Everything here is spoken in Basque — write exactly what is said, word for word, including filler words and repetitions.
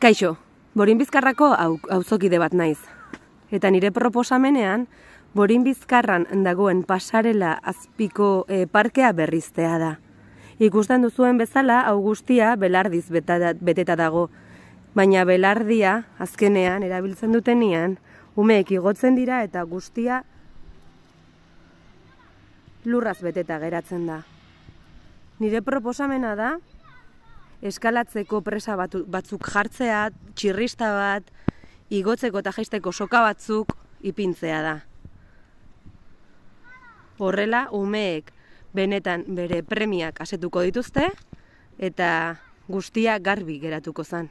Kaixo, Borin-Bizkarrako auzokide bat naiz. Eta nire proposamenean, Borin-Bizkarran dagoen pasarela azpiko e, parkea berriztea da. Ikusten duzuen bezala, hau guztia belardiz beteta dago. Baina belardia, azkenean, erabiltzen dutenean, umeek igotzen dira eta guztia lurraz beteta geratzen da. Nire proposamena da, eskalatzeko presa batzuk jartzea, txirrista bat, igotzeko eta jaisteko soka batzuk ipintzea da. Horrela, umeek benetan bere premiak asetuko dituzte eta guztia garbi geratuko zen.